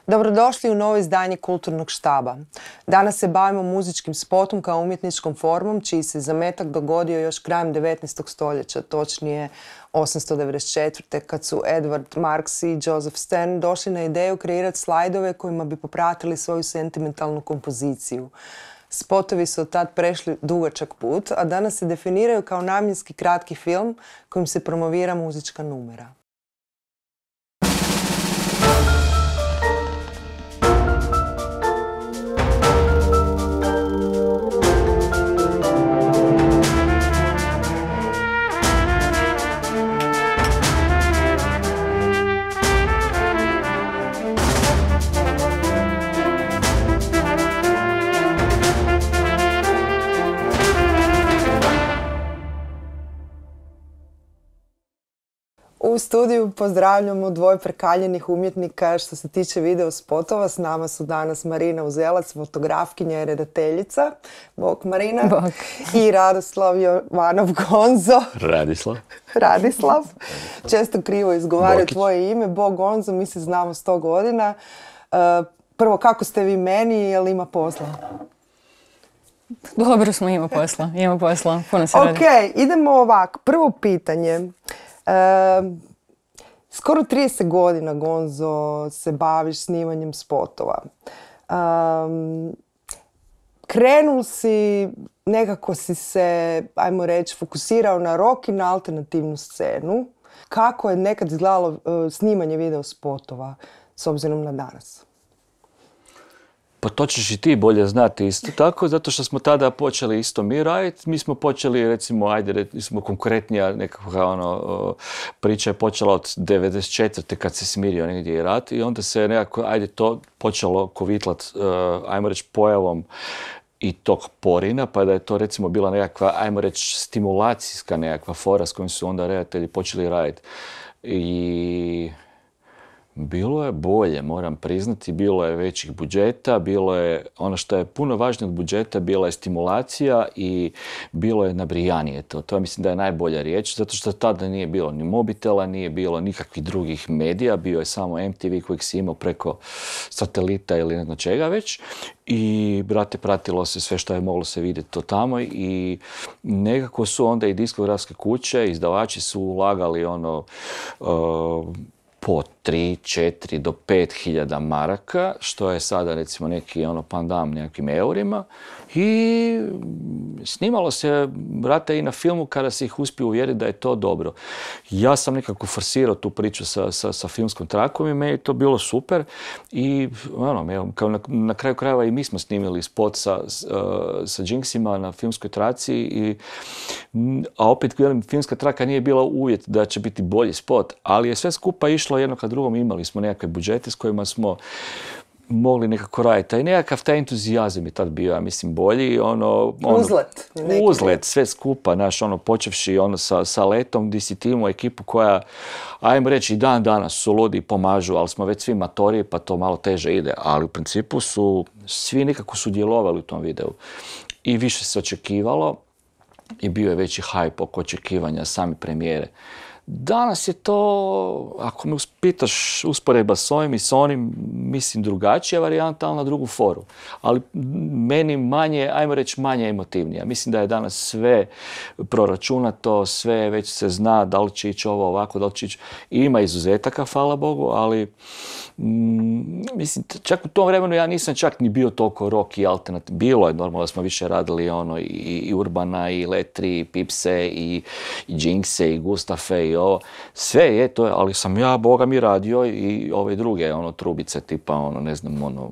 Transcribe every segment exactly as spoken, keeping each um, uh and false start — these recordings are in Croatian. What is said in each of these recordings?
Dobrodošli u novo izdanje Kulturnog štaba. Danas se bavimo muzičkim spotom kao umjetničkom formom, čiji se zametak dogodio još krajem devetnaestog stoljeća, točnije osamsto devedeset četvrte. kad su Edward Marks i Joseph Stern došli na ideju kreirati slajdove kojima bi popratili svoju sentimentalnu kompoziciju. Spotovi su od tad prešli dugačak put, a danas se definiraju kao namjenski kratki film kojim se promovira muzička numera. U studiju pozdravljamo dvoje prekaljenih umjetnika što se tiče video spotova. S nama su danas Marina Uzelac, fotografkinja i redateljica. Bog Marina. Bog. I Radoslav Jovanov Gonzo. Radislav. Radislav. Često krivo izgovaraju tvoje ime. Bog Gonzo, mi se znamo sto godina. Uh, prvo, kako ste vi meni, je li ima posla? Dobro smo, ima posla. Ima posla. Puno se radi. Ok, idemo ovako. Prvo pitanje. Uh, skoro trideset godina, Gonzo, se baviš snimanjem spotova. Um, krenul si, nekako si se, ajmo reći, fokusirao na rock i na alternativnu scenu. Kako je nekad izgledalo uh, snimanje video spotova s obzirom na danas? Pa to ćeš i ti bolje znati isto tako, zato što smo tada počeli isto mi raditi. Mi smo počeli, recimo, ajde, smo konkretnija nekakva ono, priča je počela od devedeset četvrte kad se smirio negdje i rat i onda se nekako, ajde, to počelo kovitlat, uh, ajmo reći, pojavom i tog porina, pa da je to recimo bila nekakva, ajmo reći, stimulacijska nekakva fora s kojom su onda redatelji počeli raditi. I bilo je bolje, moram priznati, bilo je većih budžeta, bilo je, ono što je puno važnije od budžeta, bila je stimulacija i bilo je nabrijanije to. To mislim da je najbolja riječ, zato što tada nije bilo ni mobitela, nije bilo nikakvih drugih medija, bio je samo em te ve kojeg si imao preko satelita ili ne znam čega već. I, brate, pratilo se sve što je moglo se vidjeti to tamo i nekako su onda i diskografske kuće, izdavači su ulagali ono, uh, po tri, četiri do pet hiljada maraka, što je sada recimo neki ono pandam nekakvim eurima. I snimalo se, brate, i na filmu kada se ih uspio uvjeriti da je to dobro. Ja sam nekako forsirao tu priču sa, sa, sa filmskom trakom i meni je to bilo super. I ono, evo, kao na, na kraju krajeva i mi smo snimili spot sa, uh, sa Jinxima na filmskoj traci. I, a opet, velim, filmska traka nije bila uvjet da će biti bolji spot, ali je sve skupa išlo jedno ka drugom. Imali smo nekakve budžete s kojima smo mogli nekako raditi. I nekakav taj entuzijazam je tad bio, ja mislim, bolji. Ono, ono, uzlet. Uzlet, sve skupa, naš, ono, počevši ono, sa, sa Letom, gdje si ti imao ekipu koja, ajmo reći, i dan danas su ludi i pomažu, ali smo već svi matori, pa to malo teže ide. Ali u principu su svi nekako sudjelovali u tom videu. I više se očekivalo i bio je veći hype oko očekivanja same premijere. Danas je to, ako me pitaš, usporedba s ovim i s onim, mislim, drugačija varijanta, ali na drugu foru. Ali meni manje, ajmo reći, manje emotivnija. Mislim da je danas sve proračunato, sve već se zna da li će ići ovo ovako, da li će ići. Ima izuzetaka, hvala Bogu, ali mm, mislim, čak u tom vremenu ja nisam čak ni bio toliko rock i alternativ. Bilo je normalno da smo više radili ono, i, i Urbana, i Letri, i Pipse, i, i Jinxe, i Gustafe, i ovo. Sve je to, ali sam ja, Boga mi, radio i ove druge ono, trubice tipa, ono, ne znam, ono,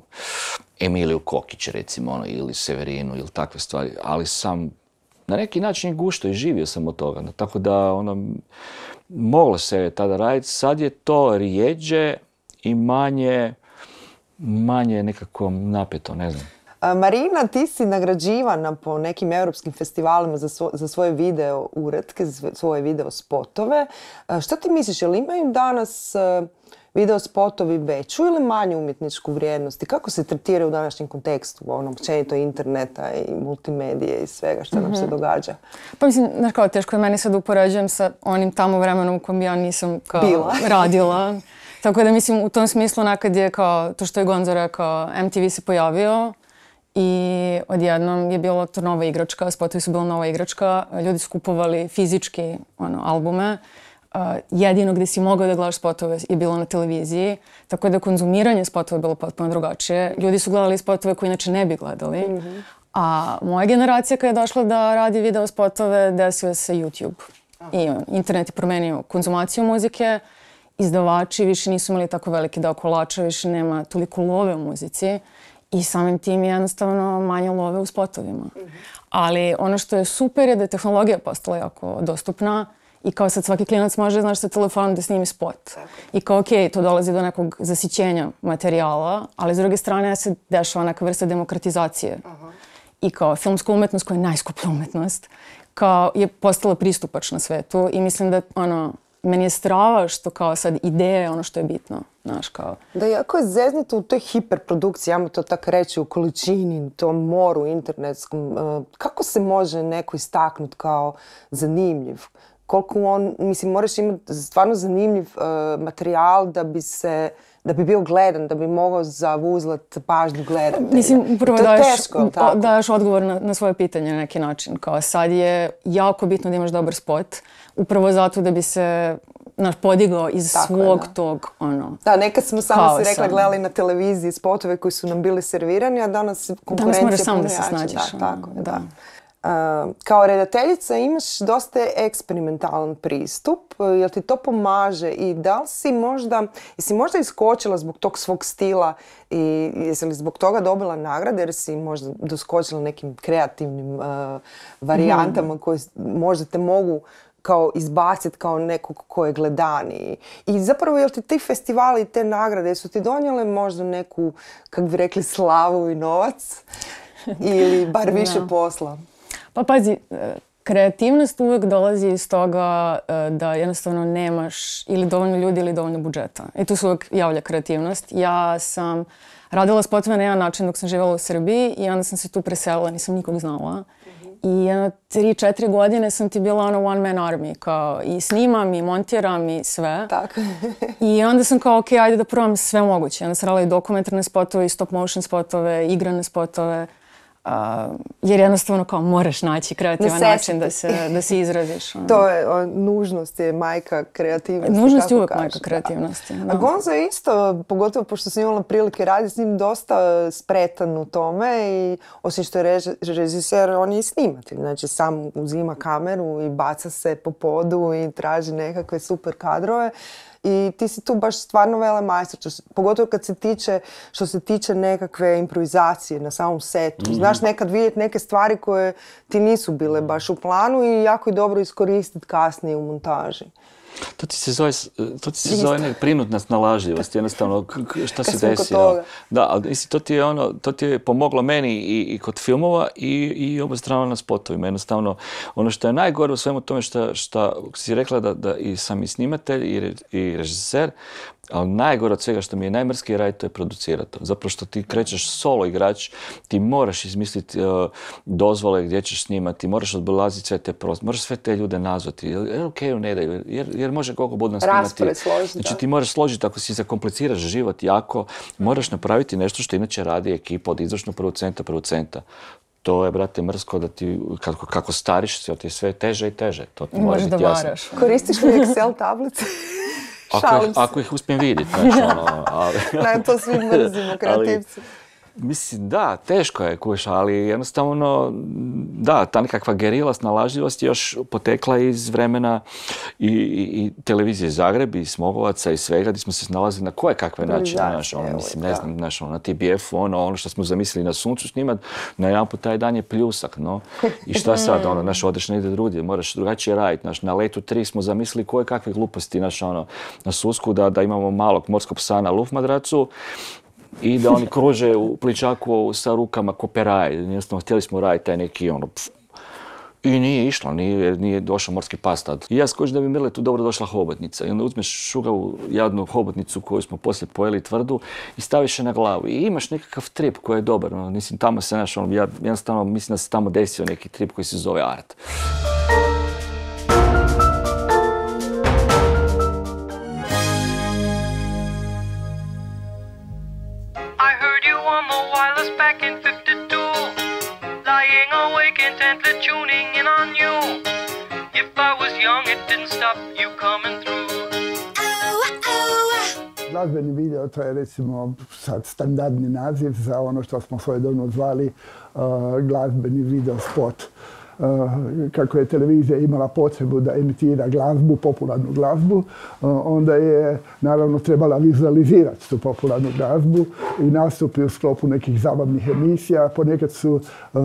Emiliju Kokić, recimo, ono, ili Severinu, ili takve stvari. Ali sam na neki način gušto i živio sam od toga. Tako da, ono, moglo se tada raditi. Sad je to rijeđe i manje, manje nekako napeto, ne znam. Marina, ti si nagrađivana po nekim europskim festivalima za, svo, za svoje video uretke, za svoje video spotove. Što ti misliš, je li imaju danas video spotovi veću ili manju umjetničku vrijednost? I kako se tretiraju u današnjem kontekstu, ono, općenito interneta i multimedije i svega što nam mm-hmm. se događa? Pa mislim, znaš kao, teško je meni sad upoređujem sa onim tamo vremenom u kojem ja nisam kao Bila. radila. Tako da mislim u tom smislu nekad je kao to što je Gonzo rekao, M T V se pojavio i odjednom je bila to nova igračka, spotovi su bila nova igračka, ljudi su kupovali fizički ono, albume. Uh, jedino gdje si mogao da gledaš spotove je bilo na televiziji, tako da konzumiranje spotova je bilo potpuno drugačije. Ljudi su gledali spotove koje inače ne bi gledali. Mm-hmm. A moja generacija kada je došla da radi video spotove, desio se YouTube. Aha. I internet je promenio konzumaciju muzike, izdavači više nisu imali tako veliki deo kolača, više nema toliko love u muzici i samim tim je jednostavno manje love u spotovima. Mm-hmm. Ali ono što je super je da je tehnologija postala jako dostupna i kao sad svaki klinac može, znaš, sa telefonom da snimi spot. Tako. I kao, okej, okay, to dolazi do nekog zasićenja materijala, ali s druge strane se dešava neka vrsta demokratizacije. Aha. I kao filmska umetnost, koja je najskuplja umetnost, kao je postala pristupačna svetu i mislim da, ono, meni je strava što kao sad ideja je ono što je bitno, znaš, kao. Da, jako je zeznuto u toj hiperprodukciji, ja mu to tako reći, u količini, tom moru internetskom. Kako se može neko istaknuti kao zanimljiv? Koliko on, mislim, moraš imati stvarno zanimljiv uh, materijal da bi se, da bi bio gledan, da bi mogao zavuzlat pažnju gledatelja. Mislim, upravo daješ, teško, daješ odgovor na, na svoje pitanje na neki način. Kao sad je jako bitno da imaš dobar spot, upravo zato da bi se naš podigao iz tako svog je, da. tog, ono, da, nekad smo samo si rekla gledali na televiziji spotove koji su nam bili servirani, a danas konkurencija danas moraš sam da se snađeš. Da, tako je, da. da. Uh, kao redateljica imaš dosta eksperimentalan pristup, jel ti to pomaže i da li si možda, jesi možda iskočila zbog tog svog stila i jesi li zbog toga dobila nagrade jer si možda doskočila nekim kreativnim uh, varijantama mm. koje možda te mogu kao izbaciti kao nekog ko je gledaniji. I zapravo jel ti ti festivali i te nagrade su ti donijele možda neku, kak bi rekli, slavu i novac ili bar više no. posla? Pa pazi, kreativnost uvek dolazi iz toga da jednostavno nemaš ili dovoljno ljudi ili dovoljno budžeta. I tu se uvek javlja kreativnost. Ja sam radila spotove na jedan način dok sam živjela u Srbiji i onda sam se tu preselila, nisam nikog znala. Mm-hmm. I jedno tri, četiri godine sam ti bila ono one man army, kao i snimam i montiram i sve. Tako. I onda sam kao, ok, ajde da probam sve moguće. Onda sam radila i dokumentarne spotove, i stop motion spotove, igrane spotove. Uh, jer jednostavno kao moraš naći kreativan način da se, da se izraziš. Ono. To je, o, nužnost je majka kreativnosti. Nužnost je uvijek kažeš, majka kreativnosti. Da. Da. A Gonzo je isto, pogotovo pošto sam imala prilike raditi s njim, dosta spretan u tome i osim što je rež, režiser, on je i snimatelj. Znači sam uzima kameru i baca se po podu i traži nekakve super kadrove. I ti si tu baš stvarno velemajstor, pogotovo kad se tiče, što se tiče nekakve improvizacije na samom setu. Mm-hmm. Znaš nekad vidjeti neke stvari koje ti nisu bile baš u planu i jako je dobro iskoristiti kasnije u montaži. To ti se zove, to ti se zove neka prinudna snalažljivost, jednostavno šta se desilo. Da, ali to ti je ono, to ti je pomoglo meni i, i kod filmova i, i obostrano na spotovima. Jednostavno, ono što je najgore u svemu tome što, što si rekla da, da i sam i snimatelj i, re, i režiser, ali najgore od svega što mi je najmrskije raditi, to je producirati. Zapravo što ti krećeš solo igrač, ti moraš izmisliti uh, dozvole gdje ćeš snimati, moraš odbolaziti sve te prostore, moraš sve te ljude nazvati, jer ok, ne daju, jer, jer može koliko budno snimati. Raspored složiti. Znači ti moraš složiti, ako si zakompliciraš život jako, moraš napraviti nešto što inače radi ekipa od izvršnog producenta, producenta. To je, brate, mrsko da ti, kako, kako stariš, sve ti je sve teže i teže. To ti mora biti jasno. Koristiš li Excel tablice? Ako ih, ako ih uspijem vidjeti, znači ono, ali... Ne, to svi mrzimo, kreativci. Ali, mislim, da, teško je, kuš, ali jednostavno, da, ta nekakva gerila snalažljivost je još potekla iz vremena i, i, i televizije Zagreb, i Smogovaca i svega, gdje smo se snalazili na koje kakve načine, znaš, ono, mislim, ne znam, znaš, ono, na T B F-u, ono, ono što smo zamislili na suncu snimat, na jedan put taj dan je pljusak, no, i šta sad, ono, znaš, odeš negdje drugdje, moraš drugačije raditi, znaš, na Letu tri smo zamislili koje kakve gluposti, znaš, ono, na Susku, da, da imamo malog morskog psa na lufmadracu, i da oni kruže u pličaku sa rukama ko peraje. Jednostavno, htjeli smo raditi taj neki ono... Pf. I nije išlo, nije, nije došao morski pas tad. I ja skočim da bi Mirle tu dobro došla hobotnica. I onda uzmeš šugavu jadnu hobotnicu koju smo poslije pojeli tvrdu i staviš je na glavu. I imaš nekakav trip koji je dobar. No, mislim, tamo se naš, ono, ja jednostavno mislim da se tamo desio neki trip koji se zove art. on the wireless back in fifty-two, lying awake intently tuning in on you. If I was young, it didn't stop you coming through. Glazbeni video, to je recimo sad standardni naziv za ono što smo svojedobno zvali uh, glazbeni video spot. Uh, kako je televizija imala potrebu da emitira glazbu, popularnu glazbu, uh, onda je naravno trebala vizualizirati tu popularnu glazbu i nastupi u sklopu nekih zabavnih emisija. Ponekad su uh,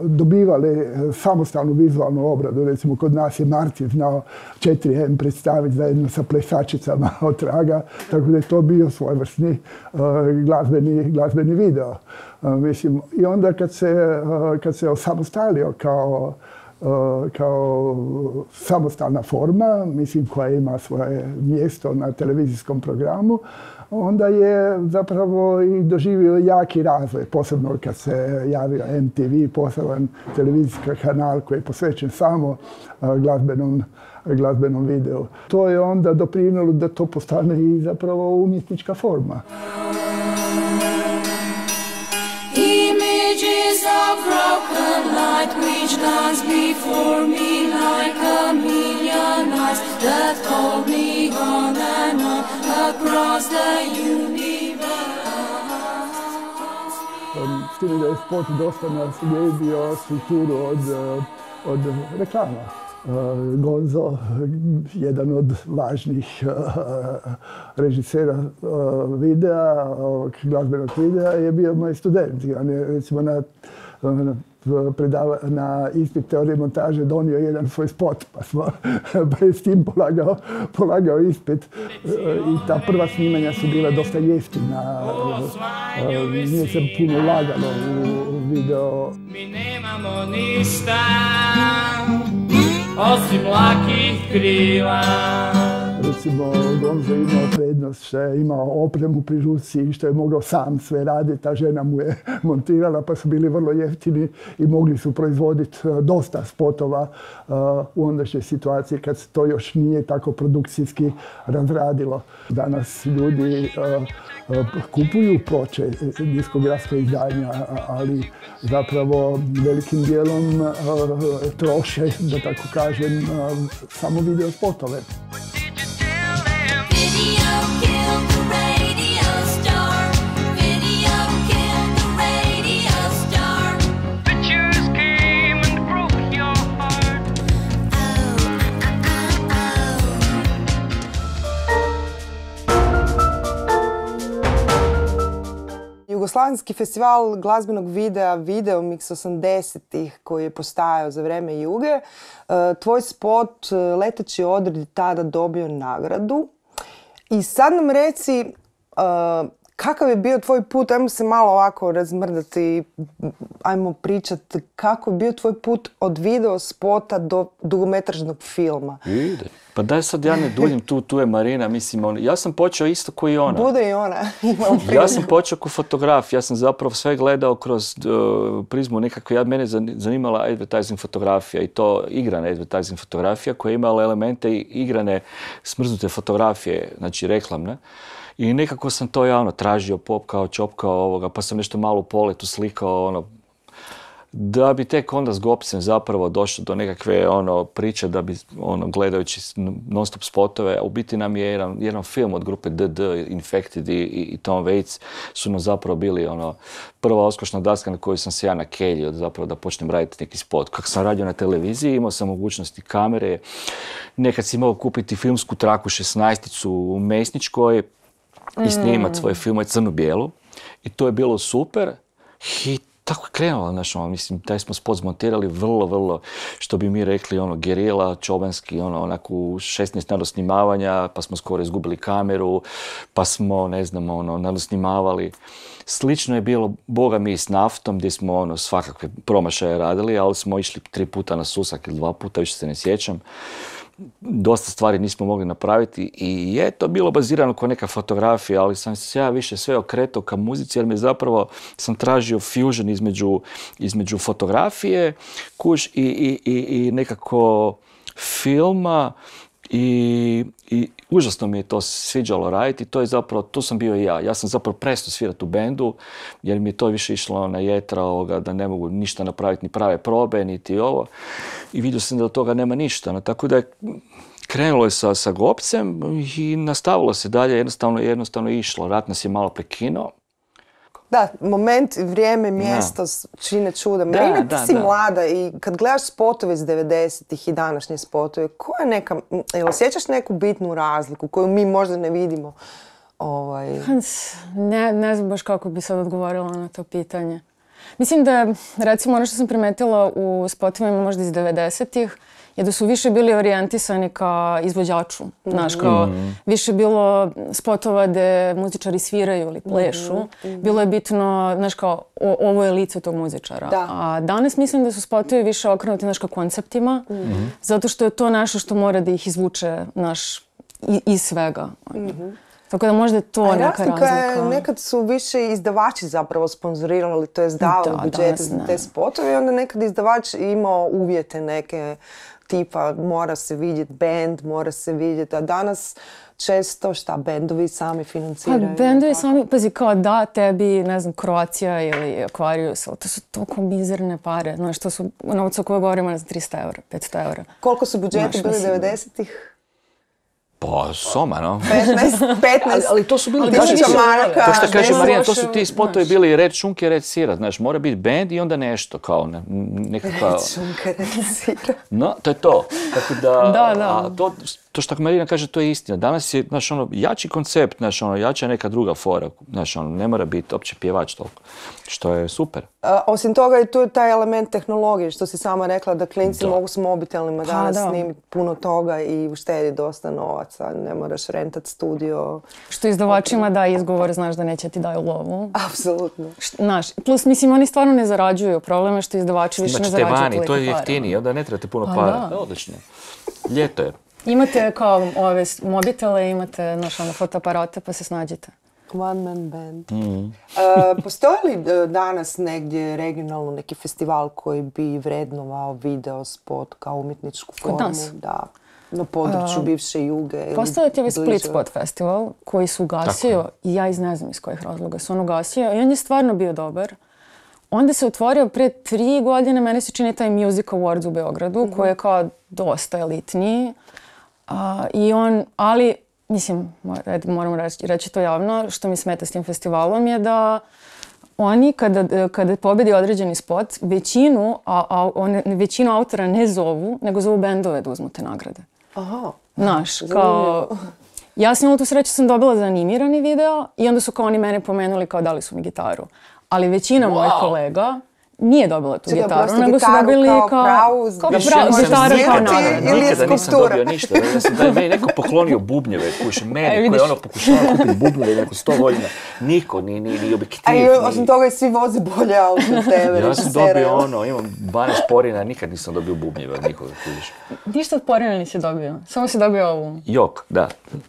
dobivali samostalnu vizualnu obradu. Recimo kod nas je Martin znao četiri em predstaviti zajedno sa plesačicama od Traga, tako da je to bio svojevrsni uh, glazbeni, glazbeni video. Uh, mislim, i onda kad se, uh, kad se osamostalio kao, uh, kao samostalna forma, mislim, koja ima svoje mjesto na televizijskom programu, onda je zapravo i doživio jaki razvoj, posebno kad se javio em te ve, poseban televizijski kanal koji je posvećen samo uh, glazbenom, glazbenom videu. To je onda doprinijelo da to postane i zapravo umjetnička forma. Of broken light which dance before me like a million eyes that hold me on and on across the universe. S tim da je spot dosta naslijedio strukturu od, od reklama. Gonzo, jedan od važnih režisera videa, ovog glazbenog videa, je bio moj student. On je recimo na, na, predava, na ispit teorije montaže donio jedan svoj spot, pa, smo, pa je s tim polagao, polagao ispit. I ta prva snimanja su bila dosta jeftina. Nije se puno ulagalo u video. Mi nemamo ništa osim lakih krila. Recimo, Gonzo je imao prednost što je imao opremu pri ruci i što je mogao sam sve raditi. Ta žena mu je montirala, pa su bili vrlo jeftini i mogli su proizvoditi dosta spotova uh, u ondašnjoj situaciji kad se to još nije tako produkcijski razradilo. Danas ljudi uh, kupuju ploče, diskografska izdanja, ali zapravo velikim dijelom uh, troše, da tako kažem, uh, samo video spotove. Jugoslavenski festival glazbenog videa Video Mix osamdesetih koji je postajao za vrijeme Juge, tvoj spot Leteći odred je tada dobio nagradu. I sad nam reci kakav je bio tvoj put, ajmo se malo ovako razmrdati, ajmo pričati kako je bio tvoj put od video spota do dugometražnog filma. Ide. Pa daj sad ja ne duljim, tu, tu je Marina, mislim, on, ja sam počeo isto ko i ona. Bude i ona. Ja sam počeo kao fotograf, ja sam zapravo sve gledao kroz uh, prizmu nekakve, ja, mene zanimala advertising fotografija i to igrana advertising fotografija koja je imala elemente igrane smrznute fotografije, znači reklamne. I nekako sam to javno tražio, popkao, čopkao ovoga, pa sam nešto malo u poletu slikao, ono, da bi tek onda s Gopsem zapravo došlo do nekakve ono, priče da bi ono, gledajući non-stop spotove, u biti nam je jedan, jedan film od grupe D D, Infected i, i Tom Waits su nam zapravo bili ono, prva oskošna daska na koju sam se ja nakeljio zapravo da počnem raditi neki spot. Kako sam radio na televiziji, imao sam mogućnosti kamere, nekad si mogao kupiti filmsku traku šesnaesticu u Mesničkoj i snimat svoje filmove crno-bijelu i to je bilo super. Hit. Tako je krenulo, znaš, ono, mislim, taj smo spot zmontirali vrlo, vrlo, što bi mi rekli, ono, gerila, čobanski, ono, onako šesnaest nadosnimavanja, pa smo skoro izgubili kameru, pa smo, ne znam, ono, nadosnimavali. Slično je bilo, boga mi, s naftom, gdje smo, ono, svakakve promašaje radili, ali smo išli tri puta na susak ili dva puta, više se ne sjećam. Dosta stvari nismo mogli napraviti i je to bilo bazirano kao neka fotografija, ali sam se ja više sve okretao ka muzici jer mi zapravo sam tražio fusion između, između fotografije, kuš i, i, i, i nekako filma I, i užasno mi je to sviđalo raditi i to je zapravo, tu sam bio i ja. Ja sam zapravo prestao svirati u bendu jer mi je to više išlo na jetra ovoga, da ne mogu ništa napraviti, ni prave probe, niti ovo. I vidio sam da od toga nema ništa. No, tako da je krenulo je sa, sa Gopcem i nastavilo se dalje, jednostavno, jednostavno išlo. Rat nas je malo prekinuo. Da, moment, vrijeme, mjesto čine čuda. Da, Marina, ti da, si da. mlada i kad gledaš spotove iz devedesetih i današnje spotove, koja je neka, jel osjećaš neku bitnu razliku koju mi možda ne vidimo? Ovaj... Ne, ne znam baš kako bi sad odgovorila na to pitanje. Mislim da, recimo, ono što sam primetila u spotovima možda iz devedesetih je da su više bili orijentisani ka izvođaču. Znaš, kao Mm. više bilo spotova gde muzičari sviraju ili plešu. Bilo je bitno, znaš, kao o- ovo je lice tog muzičara. Da. A danas mislim da su spotovi više okrenuti, znaš, ka konceptima, zato što je to nešto što mora da ih izvuče, znaš, i- iz svega. Tako da možda je to A neka razlika je, razlika. nekad su više izdavači zapravo sponzorirali, to je davali Da, budžete danas za ne. te spotove i onda nekad izdavač imao uvjete neke tipa mora se vidjeti band, mora se vidjeti, a danas često šta bendovi sami Pa financiraju. bendovi tako? sami, pazi, kao da tebi, ne znam, Croatia ili Aquarius, ali to su toliko mizerne pare. Znaš, to su novca koje govorimo, ne znam, tristo eura, petsto eura. Koliko su budžeti Znaš, bili mislim- devedesetih? Pa, soma, no. petnaest, petnaest. Ali to su bili Ali baš tisuća to- maraka, To što kaže bez Marija, to loše, su ti spotovi znaš. bili red šunke, red sira, znaš, mora biti bend i onda nešto, kao ne, nekakva... Šunka recira. No, to je to. Tako da, Da, da. A to, to što Marina kaže, to je istina. Danas je, znaš, ono, jači koncept, znaš, ono, jača je neka druga fora, znaš, ono, ne mora biti opće pjevač toliko, što je super. A, osim toga je tu taj element tehnologije, što si sama rekla da klinci Da. mogu s mobitelima Pa, danas da. snimiti puno toga i uštedi dosta novaca, ne moraš rentat studio. Što izdavačima da izgovor, znaš da neće ti daju lovu. Apsolutno. Št- Znaš, plus, mislim, oni stvarno ne zarađuju. Problem je što izdavači više ne Znači, te zarađuju vani, toliko to je para. jeftinije, onda ne trebate puno Pa para. da. Odlično. Ljeto je. Imate kao ove s- mobitele, imate, znaš, ono, fotoaparate, pa se snađite. One man band. Mm. E, postoji li e, danas negdje regionalno neki festival koji bi vrednovao video spot kao umjetničku formu? nas? Da, na području bivše Juge. ili Postoji ti ovaj bliže? Split Spot festival koji su ugasio i ja iz ne znam iz kojih razloga su on ugasio i on je stvarno bio dobar. Onda se otvorio pre tri godine, meni se čini taj Music Awards u Beogradu koji je kao dosta elitniji. A, i on, ali, mislim, mor- moram reći, reći to javno, što mi smeta s tim festivalom je da oni kada, kada pobedi određeni spot, većinu, a, a, one, većinu autora ne zovu, nego zovu bendove da uzmu te nagrade. Aha. Znaš, kao... Ja sam imala tu sreću, sam dobila za animirani video i onda su kao oni mene pomenuli kao dali su mi gitaru. Ali većina mojih kolega nije dobila tu Čekaj, gitaru, prosto nego su gitaru dobili kao kao... pravu kao više pravu možeš gitaru kao svirati nagradu. ili je Nikada nisam skulptura? dobio ništa. Ja sam da je meni neko poklonio bubnjeve, kuši, E, meni koji vidiš. je ono pokušao kupiti bubnjeve neko sto godina. Niko, ni, ni, ni objektiv. A i ni- osim toga i svi voze bolje auto od tebe. Ja sam režisere, dobio jel? ono, imam dvanaest porina, nikad nisam dobio bubnjeve od nikoga, kužiš. Ništa od porina nisi dobio, samo si dobio ovu. Jok, da.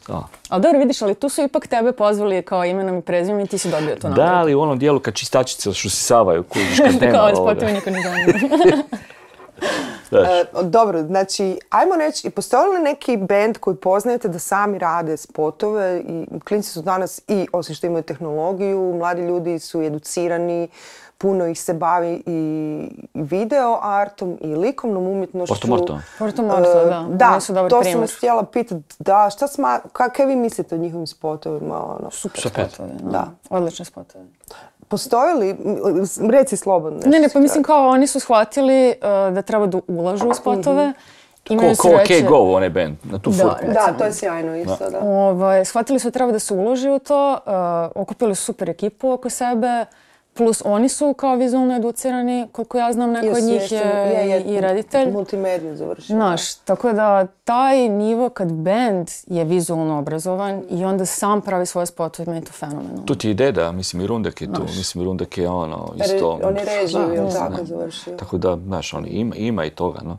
da. Ali dobro, vidiš, ali tu su ipak tebe pozvali kao imenom i prezimenom i ti si dobio tu Da, nagradu. ali u onom dijelu kad čistačice šusisavaju, kužiš, kad nema Kao ovoga. spotovi niko ne zanima. Znaš. E, dobro, znači, ajmo reći, postoji li neki band koji poznajete da sami rade spotove i klinci su danas i, osim što imaju tehnologiju, mladi ljudi su educirani, puno ih se bavi i video artom i likovnom umjetnošću. Porto Morto. Porto Morto, E, da. Da, Oni su dobar to sam primjer. vas htjela pitati. Da, šta sma, kakve vi mislite o njihovim spotovima? Ono? Super Super. spotovi, da. Da. Odlični spotovi. Postoji li, m, reci slobodno. Ne, ne, nešto pa mislim kao oni su shvatili uh, da treba da ulažu u spotove. Imaju Ko, ko sreće- OK Go, onaj band, na tu Da, furku. recimo. Da, to je sjajno isto, da. Ovaj, shvatili su da treba da se uloži u to, uh, okupili su super ekipu oko sebe, plus oni su kao vizualno educirani, koliko ja znam, neko od njih je, je, i, i reditelj. Multimediju završio. Znaš, tako da taj nivo kad band je vizualno obrazovan i onda sam pravi svoje spotove, meni je to fenomenalno. Tu ti je deda, mislim i Rundek je tu, mislim i Rundek je ono isto. On je režiju, jel Da, tako, da. završio. Tako da, znaš, on ima, ima i toga, no.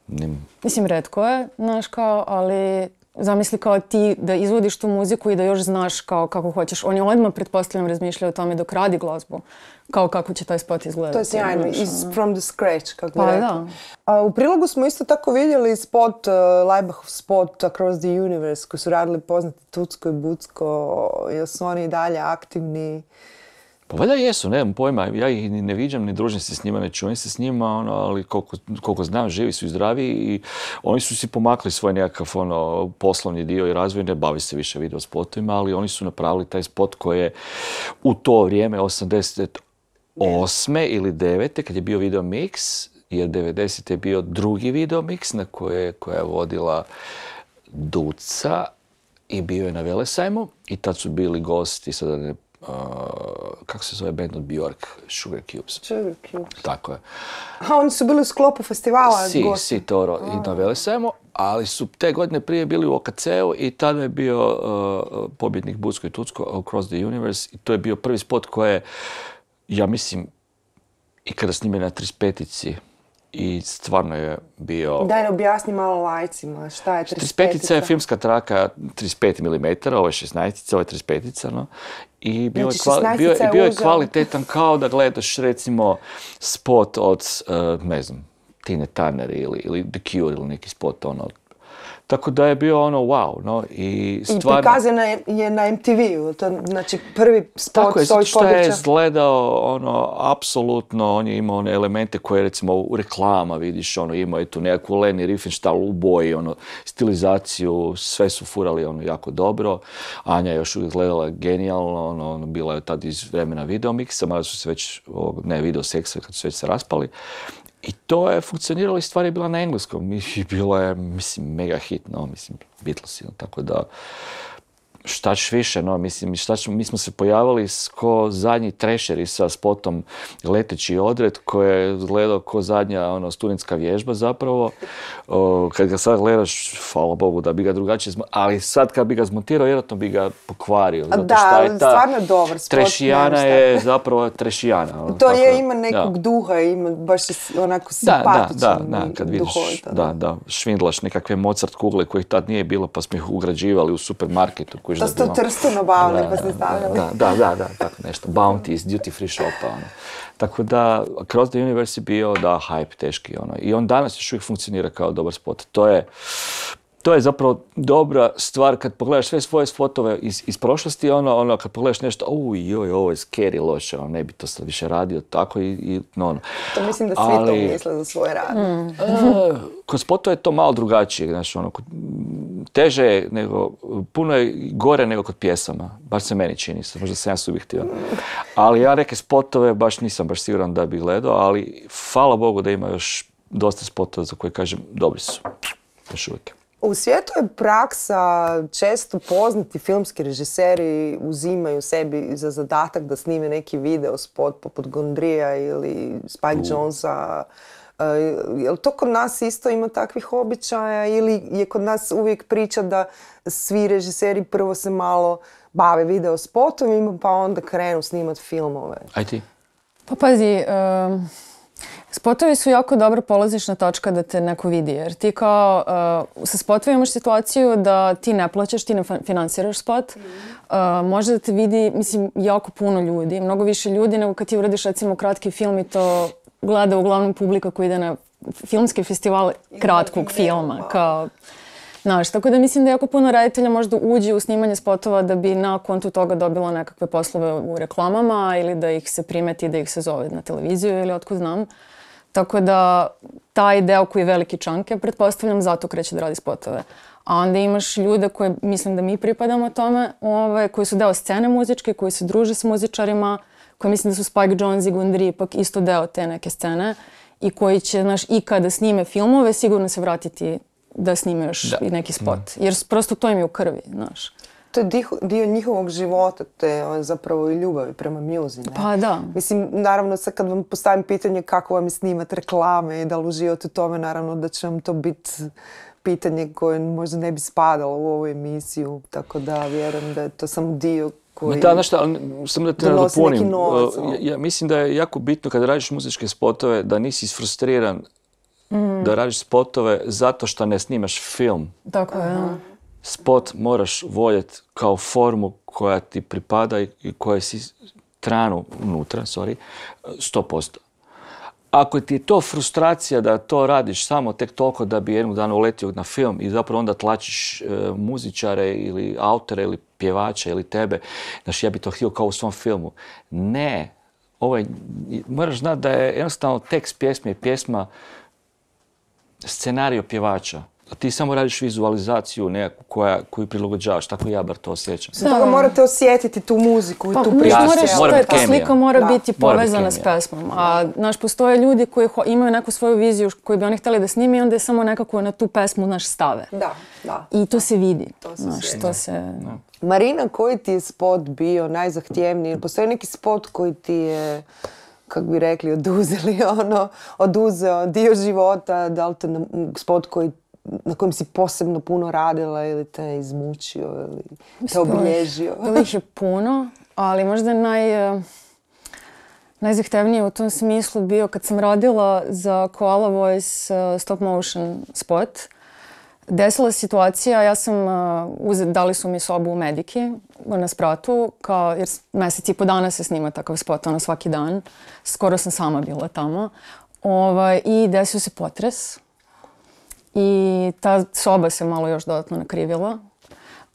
Nim- Mislim, retko je, znaš kao, ali zamisli kao ti da izvodiš tu muziku i da još znaš kao kako hoćeš. On je odmah, pretpostavljam, razmišljao o tome dok radi glazbu, kao kako će taj spot izgledati. To je sjajno, iz from the scratch, kako bi Pa rekla. da. A u prilogu smo isto tako vidjeli spot, uh, Laibachov spot Across the Universe, koji su radili poznati Tucko i Bucko, jel su oni i dalje aktivni? Pa valjda jesu, nemam pojma, ja ih ni ne viđam, ni družim se s njima, ne čujem se s njima, ono, ali koliko, koliko znam, živi su i zdravi i oni su si pomakli svoj nekakav ono, poslovni dio i razvoj, ne bavi se više video spotovima, ali oni su napravili taj spot koji je u to vrijeme, osamdeset osme ili devete kad je bio video mix, jer devedesete je bio drugi video mix na koje, koja je vodila Duca i bio je na Velesajmu i tad su bili gosti, sada ne Uh, kako se zove band od Bjork, Sugar Cubes. Sugar Cubes. Tako je. A oni su bili u sklopu festivala Si, gosti. si, Toro i na Velesajmu, ali su te godine prije bili u O K C-u i tada je bio uh, pobjednik Bucko i Tucko, Across the Universe, i to je bio prvi spot koji je, ja mislim, i kada snime na trideset petici, i stvarno je bio... Daj ne objasni malo lajcima, šta je trideset trideset petica? je filmska traka trideset pet milimetara, ovo je šesnaestica, ovo je trideset petica, no. I bio, Znači, je, kvali, bio, šesnaestica je bio je uzeo. kvalitetan kao da gledaš recimo spot od, uh, ne znam, Tine Turner ili, ili The Cure ili neki spot, ono. Tako da je bio ono wow, no, i I stvarno... prikazana je, je na M T V-u, to znači prvi spot Tako je, s zato ovih što je područja. izgledao, ono, apsolutno, on je imao one elemente koje, recimo, u reklama vidiš, ono, imao je tu nekakvu Leni Riefenstahl u boji, ono, stilizaciju, sve su furali, ono, jako dobro. Anja je još uvijek izgledala genijalno, ono, ono, bila je tad iz vremena videomiksa, mada su se već, ovog, ne, video seksa, kad su već se raspali. I to je funkcioniralo i stvar je bila na engleskom i bila je, mislim, mega hit, no, mislim, Beatlesi, no, tako da, šta ćeš više, no, mislim, šta ćemo, mi smo se pojavili ko zadnji trešeri sa spotom Leteći odred, koji je gledao ko zadnja, ono, studentska vježba zapravo. O, kad ga sad gledaš, hvala Bogu da bi ga drugačije zmontirao, ali sad kad bi ga zmontirao, vjerojatno bi ga pokvario. A Zato da, šta ali je ta stvarno je dobar spot. trešijana nema šta. je zapravo trešijana. ono, To tako je, da, ima nekog da. duha, ima baš je onako Da, da, simpatičan da, da, i kad vidiš, duhovito, da, da, švindlaš nekakve Mozart kugle kojih tad nije bilo, pa smo ih ugrađivali u supermarketu. Kojiš To da ste u bilo- Trstu nabavili, Da, pa ste stavljali. Da, da, da, da, tako nešto. Bounty iz duty free shopa, ono. Tako da, Across the Universe je bio, da, hype teški, ono. I on danas još uvijek funkcionira kao dobar spot. To je, to je zapravo dobra stvar kad pogledaš sve svoje spotove iz, iz prošlosti, ono, ono, kad pogledaš nešto, uj, joj, ovo je scary loše, ono, ne bi to sad više radio, tako i, i no, ono. To mislim da svi Ali- to misle za svoj rad. Mm. E, kod spotova je to malo drugačije, znaš, ono, kod- teže je nego, puno je gore nego kod pjesama, baš se meni čini, sad možda sam ja subjektivan. Ali ja neke spotove baš nisam baš siguran da bi gledao, ali hvala Bogu da ima još dosta spotova za koje kažem dobri su, još uvijek. U svijetu je praksa, često poznati filmski režiseri uzimaju sebi za zadatak da snime neki video spot poput Gondrija ili Spike Jonesa. Uh, je li to kod nas isto ima takvih običaja ili je kod nas uvijek priča da svi režiseri prvo se malo bave video spotovima pa onda krenu snimat filmove? Aj ti? Pa pazi, um, spotovi su jako dobra polazišna točka da te neko vidi, jer ti kao uh, sa spotovima imaš situaciju da ti ne plaćaš, ti ne fa- finansiraš spot, uh, može da te vidi, mislim, jako puno ljudi, mnogo više ljudi nego kad ti uradiš recimo kratki film i to gleda uglavnom publika koji ide na filmski festival kratkog filma, kao, znaš, tako da mislim da jako puno reditelja možda uđe u snimanje spotova da bi na kontu toga dobilo nekakve poslove u reklamama ili da ih se primeti, da ih se zove na televiziju ili otkud znam. Tako da taj deo koji je veliki čanke, pretpostavljam, zato kreće da radi spotove. A onda imaš ljude koje, mislim da mi pripadamo tome, ovaj, koji su deo scene muzičke, koji se druže s muzičarima, koji mislim da su Spike Jonze i Gundry ipak isto deo te neke scene i koji će, znaš, i kada snime filmove, sigurno se vratiti da snime još Da. i neki spot. Jer prosto to im je u krvi, znaš. To je dio, dio njihovog života, te on, zapravo i ljubavi prema muzi, ne? Pa da. Mislim, naravno sad kad vam postavim pitanje kako vam je snimat reklame i da li uživate u tome, naravno da će vam to biti pitanje koje možda ne bi spadalo u ovu emisiju, tako da vjerujem da je to samo dio koji... Ma da, znaš šta, ali samo da te donosi neki nadopunim. novac, Uh, ono. ja, ja mislim da je jako bitno kada radiš muzičke spotove da nisi isfrustriran da radiš spotove zato što ne snimaš film. Tako je, da. spot moraš voljeti kao formu koja ti pripada i koja si tranu unutra, sorry, sto posto. Ako ti je to frustracija da to radiš samo tek toliko da bi jednog dana uletio na film i zapravo onda tlačiš e, muzičare ili autore ili pjevače ili tebe, znaš, ja bi to htio kao u svom filmu. Ne, ovaj, moraš znati da je jednostavno tekst pjesme i pjesma scenario pjevača. A ti samo radiš vizualizaciju nekakvu koja, koju prilagođavaš, tako ja bar to osjećam. Za toga morate osjetiti tu muziku i Pa, tu mislim, priču. moraš, mora to je, biti ta kemija. slika mora Da. biti Mora biti povezana s kemija. pesmom. A naš, postoje ljudi koji ho- imaju neku svoju viziju koji bi oni htjeli da snimi i onda je samo nekako na tu pesmu naš stave. Da, da. I to se vidi. To se Znaš, osjeća. to se... Marina, koji ti je spot bio najzahtjevniji? Postoji neki spot koji ti je, kako bi rekli, oduzeli ono, oduzeo dio života, da li te na- spot koji, na kojem si posebno puno radila ili te izmučio ili te obilježio? Bilo ih je puno, ali možda naj, eh, najzahtevniji u tom smislu bio kad sam radila za Koala Voice eh, stop motion spot. Desila se situacija, ja sam, uh, uze- dali su mi sobu u Mediki na spratu, kao, jer s- mjesec i po dana se snima takav spot, ono svaki dan. Skoro sam sama bila tamo. Ovaj, I desio se potres. I ta soba se malo još dodatno nakrivila.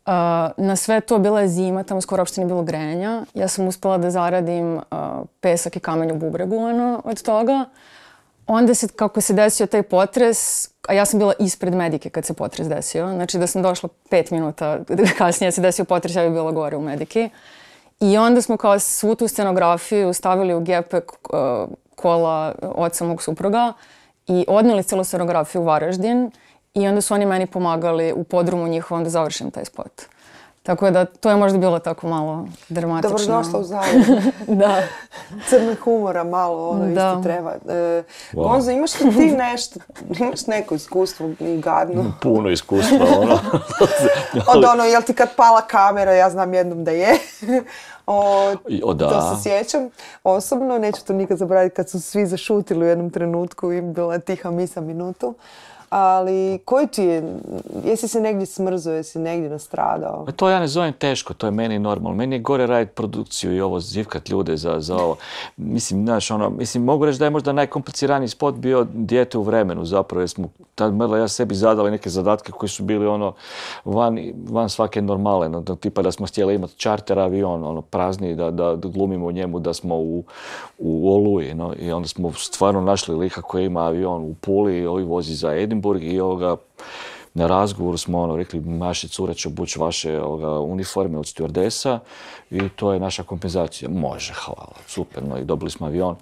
Uh, na sve to bila je zima, tamo skoro uopšte nije bilo grejanja. Ja sam uspjela da zaradim uh, pesak i kamen u bubregu ono, od toga. Onda se, kako se desio taj potres, a ja sam bila ispred Medike kad se potres desio, znači da sam došla pet minuta kasnije se desio potres, ja bi bila gore u Mediki. I onda smo kao svu tu scenografiju stavili u gepek uh, kola oca mog supruga i odnijeli celu scenografiju u Varaždin i onda su oni meni pomagali u podrumu njihovom da završim taj spot. Tako da to je možda bilo tako malo dramatično. Dobrodošla u Zagreb. Da. Crnog humora malo, ono Da. isto treba. E, Gonzo, imaš li ti nešto, imaš neko iskustvo i gadno? Puno iskustva, ono. Od ono, jel ti kad pala kamera, ja znam jednom da je. O, O, da. To se sjećam. Osobno, neću to nikad zaboraviti kad su svi zašutili u jednom trenutku i bila je tiha misa minutu. Ali koji ti je, jesi se negdje smrzao, jesi negdje nastradao? Pa to ja ne zovem teško, to je meni normalno. Meni je gore raditi produkciju i ovo, zivkat ljude za, za ovo. Mislim, znaš, ono, mislim, mogu reći da je možda najkompliciraniji spot bio Dijete u vremenu zapravo, jer smo tad Merla i ja sebi zadali neke zadatke koji su bili ono van, van svake normale, no, da, tipa da smo htjeli imati čarter avion, ono, prazni, da, da, da glumimo u njemu da smo u, u Oluji, no, i onda smo stvarno našli lika koji ima avion u Puli i ovaj vozi za Edinburgh i ovoga, na razgovoru smo ono, rekli, naše cure će obući vaše ovoga, uniforme od stewardesa i to je naša kompenzacija. Može, hvala, super, no i dobili smo avion.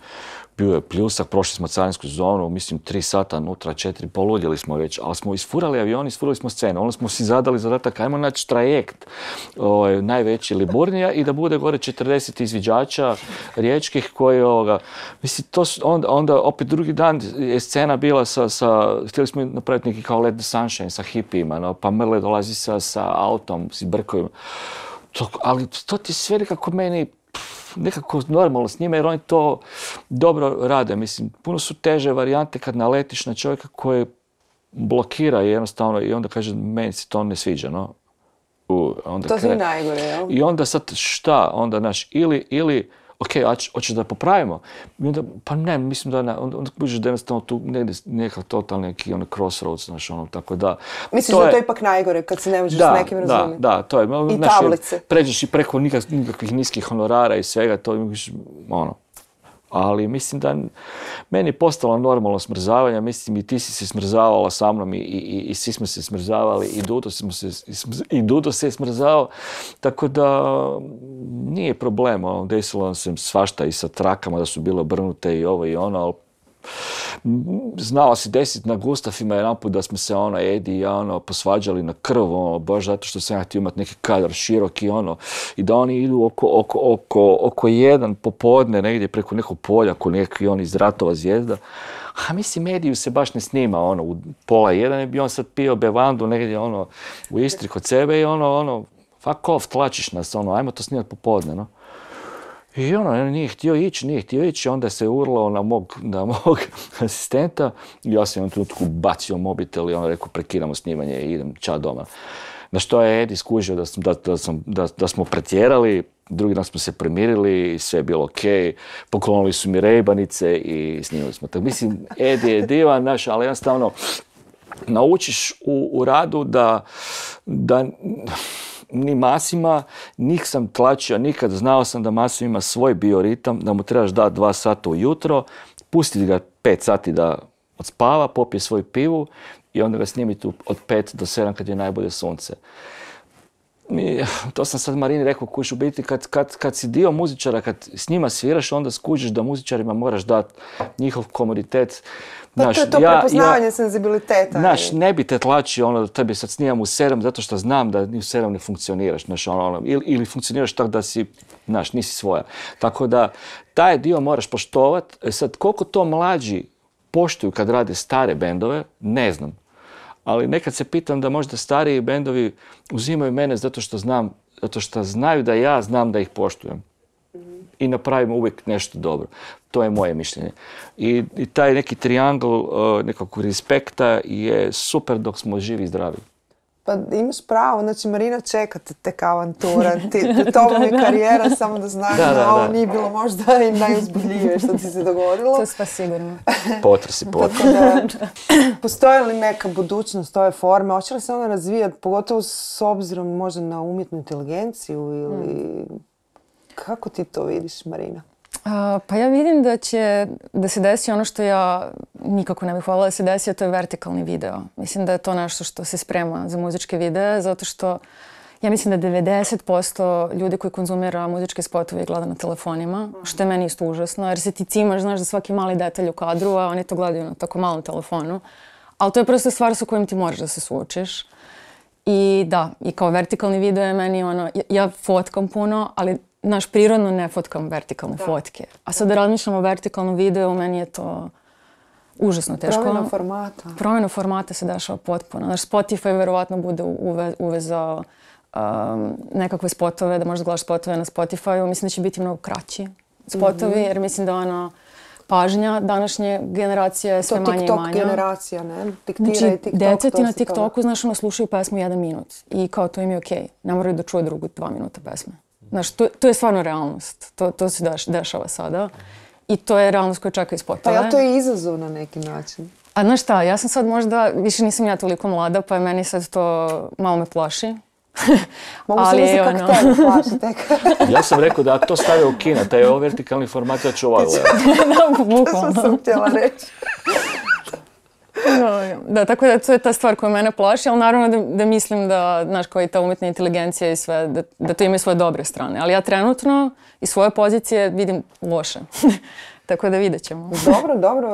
Bio je pljusak, prošli smo carinsku zonu, mislim tri sata unutra, četiri, poludjeli smo već, ali smo isfurali avion, isfurali smo scenu. Onda smo si zadali zadatak, ajmo naći trajekt ovaj, najveći Liburnija i da bude gore četrdeset izviđača riječkih koji ovoga, mislim, to su, onda, onda opet drugi dan je scena bila sa, sa htjeli smo napraviti neki kao Let the Sunshine sa hipijima, no, pa Merle dolazi sa, sa autom, s brkovima. To, ali to ti sve nekako meni nekako normalno s njima jer oni to dobro rade. Mislim, puno su teže varijante kad naletiš na čovjeka koji blokira jednostavno i onda kaže meni se to ne sviđa, no. U, onda To ti je kre- najgore, jel? I onda sad šta? Onda, znaš, ili, ili ok, a ć- hoćeš da popravimo? I onda, pa ne, mislim da ne, onda, onda kužiš da jednostavno tu negdje neka totalni neki ono crossroads, znaš, ono, tako da. Misliš da je to ipak najgore kad se ne možeš Da, s nekim da, razumjeti? da, to je. I znaš, tablice. Pređeš i preko nikak- nikakvih niskih honorara i svega, to imaš, ono. Ali mislim da meni je postalo normalno smrzavanje, mislim i ti si se smrzavala sa mnom i, i, i svi smo se smrzavali i Dudo, smo se, i smrz- i Dudo se je smrzao, tako da nije problem, ono, desilo nam se svašta i sa trakama da su bile obrnute i ovo i ono, ali znalo se desiti na Gustafima jedanput da smo se ono, Edi i ja ono, posvađali na krv, ono, baš zato što sam ja htio imati neki kadar široki, ono, i da oni idu oko, oko, oko, oko jedan popodne negdje preko nekog polja, ko neki on iz Ratova zvijezda. A mislim, Ediju se baš ne snima, ono, u pola jedan je bi on sad pio bevandu negdje, ono, u Istri kod sebe i ono, ono, fuck off, tlačiš nas, ono, ajmo to snimati popodne, no. I ono, nije htio ići, nije htio ići, onda se urlao na mog, na mog asistenta i ja sam u jednom trenutku bacio mobitel i ono rekao prekidamo snimanje i idem ča doma. Na što je Edi skužio da, da, da, sam, da, da smo pretjerali, drugi dan smo se premirili, sve je bilo ok, poklonili su mi rejbanice i snimili smo. Tako, mislim, Edi je divan, naš, ali jednostavno naučiš u, u radu da, da ni Masima, njih sam tlačio nikad, znao sam da Masim ima svoj bioritam, da mu trebaš dati dva sata ujutro, pustiti ga pet sati da odspava, popije svoju pivu i onda ga snimiti od pet do sedam kad je najbolje sunce. I, to sam sad Marini rekao, kuš u biti kad, kad, kad si dio muzičara, kad s njima sviraš, onda skužiš da muzičarima moraš dati njihov komoditet. Pa Naš, to je to ja, prepoznavanje ja, senzibiliteta. Znaš, ne bi te tlačio ono da tebi sad snimam u sedam zato što znam da ni u sedam ne funkcioniraš. Znaš, ono, ono, ili, ili funkcioniraš tako da si, znaš, nisi svoja. Tako da taj dio moraš poštovati. E sad, koliko to mlađi poštuju kad rade stare bendove, ne znam. Ali nekad se pitam da možda stariji bendovi uzimaju mene zato što znam, zato što znaju da ja znam da ih poštujem. I napravimo uvijek nešto dobro. To je moje mišljenje. I, i taj neki triangl uh, nekakvog respekta je super dok smo živi i zdravi. Pa imaš pravo, znači Marina čeka te tek avantura, ti, tobom je karijera, samo da znaš da, da, da ovo nije bilo možda i najuzbudljivije što ti se dogodilo. To je sve sigurno. Potresi, potresi. Da, postoji li neka budućnost ove forme, hoće li se ona razvijati, pogotovo s obzirom možda na umjetnu inteligenciju ili... Hmm. Kako ti to vidiš, Marina? Uh, pa ja vidim da će da se desi ono što ja nikako ne bih voljela da se desi, a to je vertikalni video. Mislim da je to nešto što se sprema za muzičke videe, zato što ja mislim da devedeset posto ljudi koji konzumira muzičke spotove gleda na telefonima, što je meni isto užasno, jer se ti cimaš, znaš, za svaki mali detalj u kadru, a oni to gledaju na tako malom telefonu. Ali to je prosto stvar sa kojim ti moraš da se suočiš. I da, i kao vertikalni video je meni ono, ja, ja fotkam puno, ali naš prirodno ne fotkam vertikalne da. fotke. A sad da razmišljam o vertikalnom videu, meni je to užasno teško. Promjena formata. Promjena formata se dešava potpuno. Naš Spotify verovatno bude uve, uvezao um, nekakve spotove, da možeš gledaš spotove na Spotify-u. Mislim da će biti mnogo kraći spotovi, mm-hmm. jer mislim da ono, pažnja današnje generacije je sve to manje i manje. To TikTok generacija, ne? Diktira znači, i TikTok. Deca ti na TikToku, znaš, ono, slušaju pesmu jedan minut. I kao to im je okej. Okay. Ne moraju da čuje drugu dva minuta pesme. Znaš, to, to je stvarno realnost. To, to se deš, dešava sada. I to je realnost koja čeka i spotove. Pa ja to je izazov na neki način. A znaš šta, ja sam sad možda, više nisam ja toliko mlada, pa je meni sad to malo me plaši. Mogu se misliti kako ono... tebe plaši tek. Ja sam rekao da to stavio u kina, taj je vertikalni format, ja ću ovaj gledati. Da, bukvalno. To sam htjela reći. No, da, tako da to je ta stvar koja mene plaši, ali naravno da, da mislim da, znaš, kao i ta umjetna inteligencija i sve, da, da to ima svoje dobre strane. Ali ja trenutno iz svoje pozicije vidim loše. Tako da vidjet ćemo. Dobro, dobro,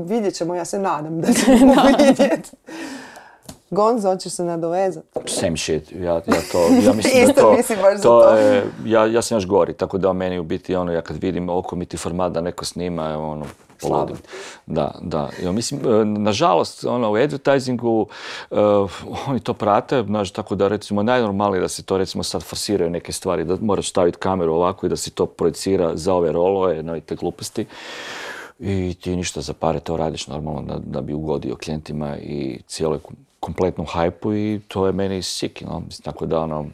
vidjet ćemo, ja se nadam da ćemo vidjeti. Gonzo, hoćeš se nadovezati? Same shit, ja, ja to, ja mislim Isto da to, mislim baš to, za to. je, ja, ja sam još gori, tako da meni u biti ono, ja kad vidim okomiti format da neko snima, ono, poludim. Da, da. Ja, mislim, nažalost, ono, u advertisingu uh, oni to prate, znaš, tako da recimo najnormalnije da se to recimo sad forsiraju neke stvari, da moraš staviti kameru ovako i da se to projicira za ove rolove, no i te gluposti. I ti ništa za pare to radiš normalno da, da bi ugodio klijentima i cijeloj kompletnom hajpu i to je meni sick, no? Mislim, tako da ono,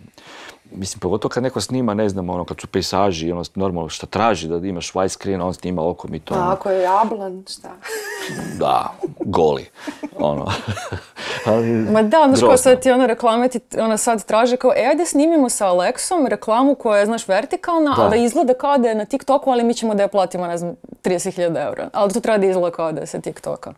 mislim, pogotovo kad neko snima, ne znam, ono, kad su pejsaži, ono, normalno šta traži, da imaš widescreen, on snima okom i to. A ono, ako je jablan, šta? Da, goli, ono. Ali, ma da, znaš, kao sad ti ono reklame ti ono sad traže kao, e, ajde snimimo sa Alexom reklamu koja je, znaš, vertikalna, da. Ali izgleda kao da je na TikToku, ali mi ćemo da je platimo, ne znam, trideset hiljada eura. Ali to treba da izgleda kao da je sa TikToka.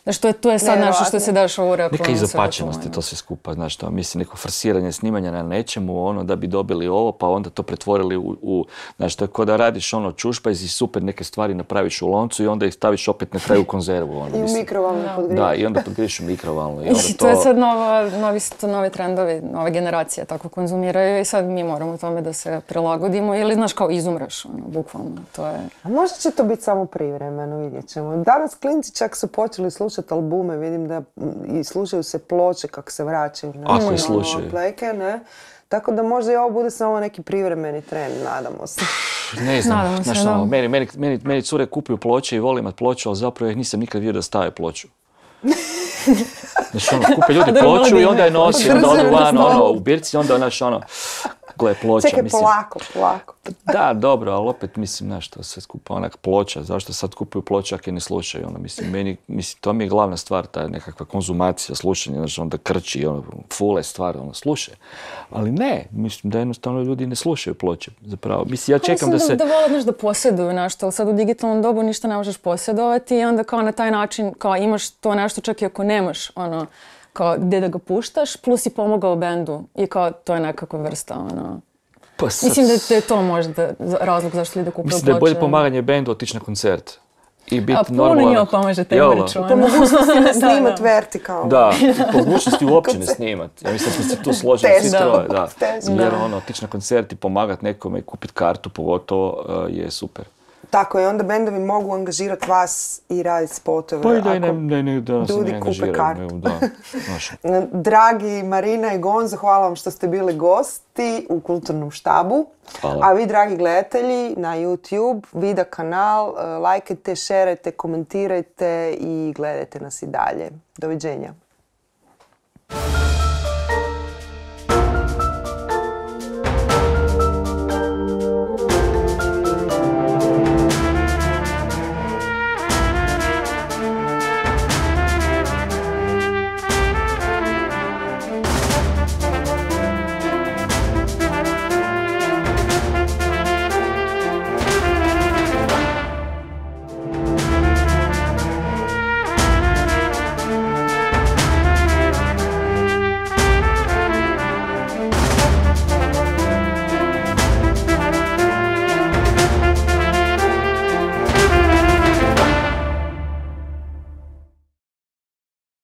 Znaš, to je, to je sad ne, nešto što se dešava u reklamu. Neka izopačenost je to sve skupa, znaš, to, mislim, neko forsiranje snimanja na nečemu, ono, da bi dobili ovo, pa onda to pretvorili u, u znaš, to je kao da radiš, ono, čušpajz i super neke stvari napraviš u loncu i onda ih staviš opet na kraju u konzervu, ono, i u mikrovalnu podgriješ. Da, i onda podgriješ u mikrovalnu. I onda to... to je sad nova, novi, to novi trendovi, nove generacije tako konzumiraju i sad mi moramo tome da se prilagodimo ili, znaš, kao izumreš, ono, bukvalno, to je... A možda će to biti samo privremeno, vidjet ćemo. Danas klinci čak su počeli slušati albume, vidim da i slušaju se ploče kako se vraćaju. Ne? Ako i slušaju. Pleke, ne? Tako da možda i ovo bude samo neki privremeni trend, nadamo se. Ne znam, nadamo znaš, se, ono, meni, meni, meni, meni cure kupuju ploče i volim imat ploču, ali zapravo ih nisam nikad vidio da stave ploču. Znači, ono, kupe ljudi ploču i onda je nosi, onda odu van, ono, u birci, onda, znaš, ono, gle, ploča, Čekaj, mislim. polako, polako. Da, dobro, ali opet, mislim, znaš, to sve skupa, onak ploča, zašto sad kupuju ploče ako je ne slušaju, ono, mislim, meni, mislim, to mi je glavna stvar, ta nekakva konzumacija, slušanje, znači, onda krči, ono, fule stvari, ono, slušaju. Ali ne, mislim da jednostavno ljudi ne slušaju ploče, zapravo. Mislim, ja čekam da se... Da vole, znaš, da posjeduju nešto, ali sad u digitalnom dobu ništa ne možeš posjedovati i onda kao na taj način, kao imaš to nešto čak i ako nemaš, ono, kao gdje da ga puštaš, plus i pomogao bendu i kao to je nekakva vrsta, ono... Pa sad... Mislim da je to možda razlog zašto ljudi kupuju ploče. Mislim da je bolje pomaganje bendu otići na koncert. I biti A puno normalan. njima pomaže taj Jel' merch, ono. Po mogućnosti ne snimat Da, da. vertikalno. Da, po mogućnosti uopće ne snimat. Ja mislim da smo se tu složili svi Teško. troje, da. Teško. Jer ono, otići na koncert i pomagat nekome i kupiti kartu pogotovo uh, je super. Tako je, onda bendovi mogu angažirati vas i raditi spotove. Pa i da i ako ne, ne, ne, da se ljudi ne kupe angažiraju. kartu. nego Da, znaš. Dragi Marina i Gonzo, hvala vam što ste bili gosti u Kulturnom štabu. Hvala. A vi, dragi gledatelji, na YouTube, Vida kanal, eh, lajkajte, šerajte, komentirajte i gledajte nas i dalje. Doviđenja.